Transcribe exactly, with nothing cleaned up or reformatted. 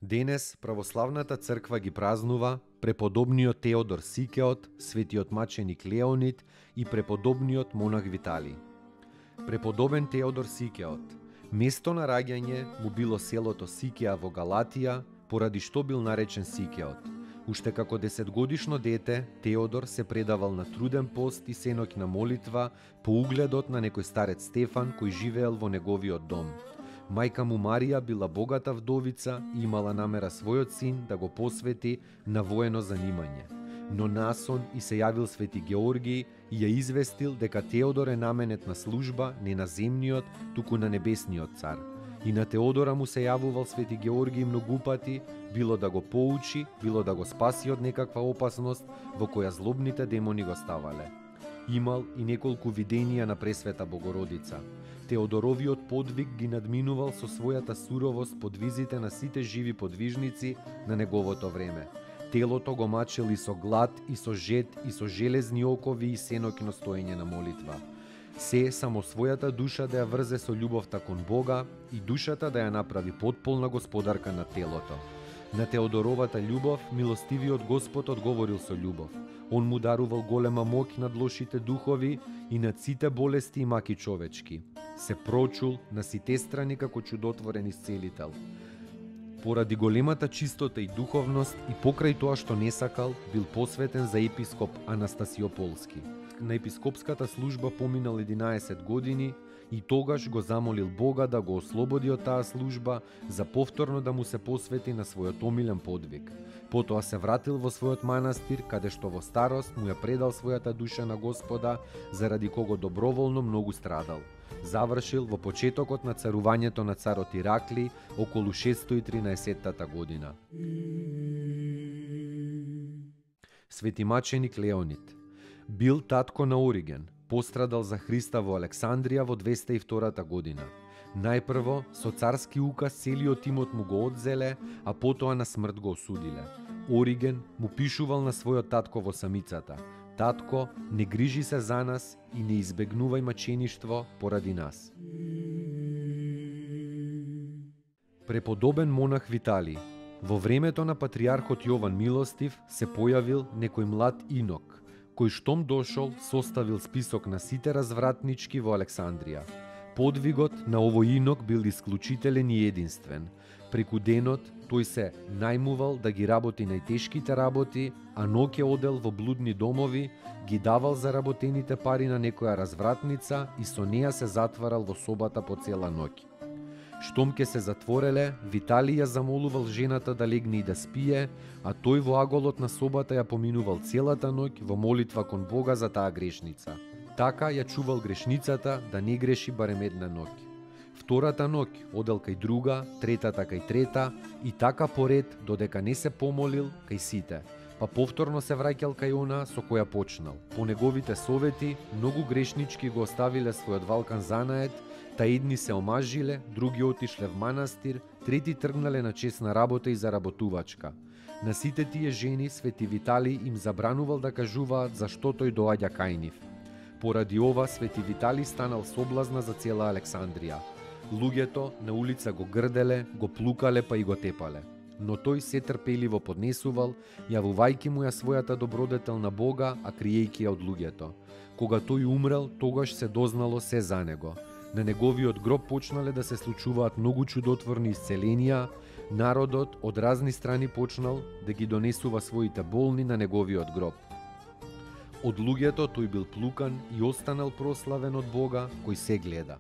Денес православната црква ги празнува преподобниот Теодор Сикеот, светиот маченик Леонид и преподобниот монах Виталий. Преподобен Теодор Сикеот. Место на раѓање му било селото Сикеа во Галатија, поради што бил наречен Сикеот. Уште како десетгодишно дете, Теодор се предавал на труден пост и сеноќна молитва по угледот на некој старец Стефан кој живеел во неговиот дом. Мајка му Марија била богата вдовица и имала намера својот син да го посвети на воено занимање. Но насон и се јавил свети Георгиј и ја известил дека Теодор е наменет на служба не на земниот, туку на небесниот цар. И на Теодора му се јавувал свети Георгиј многу пати, било да го поучи, било да го спаси од некаква опасност во која злобните демони го ставале. Имал и неколку виденија на Пресвета Богородица. Теодоровиот подвиг ги надминувал со својата суровост подвизите на сите живи подвижници на неговото време. Телото го мачел и со глад, и со жед, и со железни окови и сеноќно стоење на молитва. Се само својата душа да ја врзе со љубовта кон Бога и душата да ја направи потполна господарка на телото. На Теодоровата љубов милостивиот Господ одговорил со љубов. Он му дарувал голема моќ над лошите духови и над сите болести и маки човечки. Се прочул на сите страни како чудотворен исцелител. Поради големата чистота и духовност и покрај тоа што не сакал, бил посветен за епископ Анастасиополски. На епископската служба поминал единаесет години и тогаш го замолил Бога да го ослободи од таа служба за повторно да му се посвети на својот омилен подвиг. Потоа се вратил во својот манастир, каде што во старост му ја предал својата душа на Господа, заради кого доброволно многу страдал. Завршил во почетокот на царувањето на царот Иракли околу шестстотини и тринаесеттата година. Свети маченик Леонид бил татко на Ориген, пострадал за Христа во Александрија во двеста и втората година. Најпрво, со царски указ целиот тимот му го одзеле, а потоа на смрт го осудиле. Ориген му пишувал на својот татко во самицата: "Татко, не грижи се за нас и не избегнувај мачеништво поради нас." Преподобен монах Виталий. Во времето на патриархот Јован Милостив се појавил некој млад инок, кој штом дошол составил список на сите развратнички во Александрија. Подвигот на овој инок бил исклучителен и единствен. Преку денот тој се најмувал да ги работи најтешките работи, а ноќе одел во блудни домови, ги давал заработените пари на некоја развратница и со неа се затварал во собата по цела ноќ. Штом ке се затвореле, Виталий ја замолувал жената да легне и да спие, а тој во аголот на собата ја поминувал целата ноќ во молитва кон Бога за таа грешница. Така ја чувал грешницата да не греши барем една ноќ. Втората ноќ одел кај друга, третата кај трета и така поред додека не се помолил кај сите, па повторно се враќал кај она со која почнал. По неговите совети, многу грешнички го оставиле својот валкан занает, та едни се омажиле, други отишле в манастир, трети тргнале на чесна работа и заработувачка. На сите тие жени свети Виталий им забранувал да кажуваат зашто тој доаѓа кај нив. Поради ова свети Виталий станал соблазна за цела Александрија. Луѓето на улица го грделе, го плукале па и го тепале. Но тој се трпеливо поднесувал, јавувајќи му ја својата добродетел на Бога, а криејќи ја од луѓето. Кога тој умрел, тогаш се дознало се за него. На неговиот гроб почнале да се случуваат многу чудотворни исцеленија, народот од разни страни почнал да ги донесува своите болни на неговиот гроб. Од луѓето тој бил плукан и останал прославен од Бога кој се гледа.